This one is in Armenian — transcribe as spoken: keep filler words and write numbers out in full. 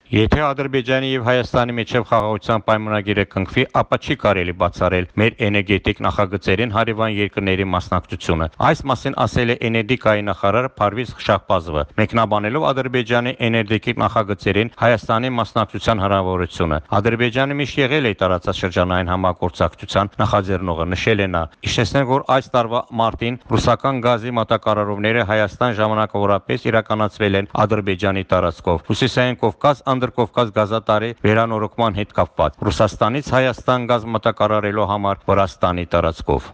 Եթե Ադրբեջանի եւ Հայաստանի միջև խաղաղության պայմանագիրը կնքվի, ապա չի կարելի բացառել մեր էներգետիկ նախագծերին հարևան երկրների մասնակցությունը։ Այս մասին ասել է էներգետիկայի նախարար Փարվիզ Շահբազովը, մեկնաբանելով Ադրբեջանի էներգետիկ նախագծերին Հայաստանի մասնակցության հնարավորությունը։ Ադրբեջանը միշտ եղել է տարածաշրջանային համագործակցության նախաձեռնողը, նշել է նա։ Իշխեցնենք, որ այս տարվա մարտին ռուսական գազի մատակարարումները Հայաստան ժամանակավորապես իրականացվել են Ադրբեջանի տարածքով։ Հյուսիսային Կովկաս Անդրկովկաս գազատարի վերանորոգման հետ կապված Ռուսաստանից Հայաստան գազ մատակարարելու համար Վրաստանի տարածքով։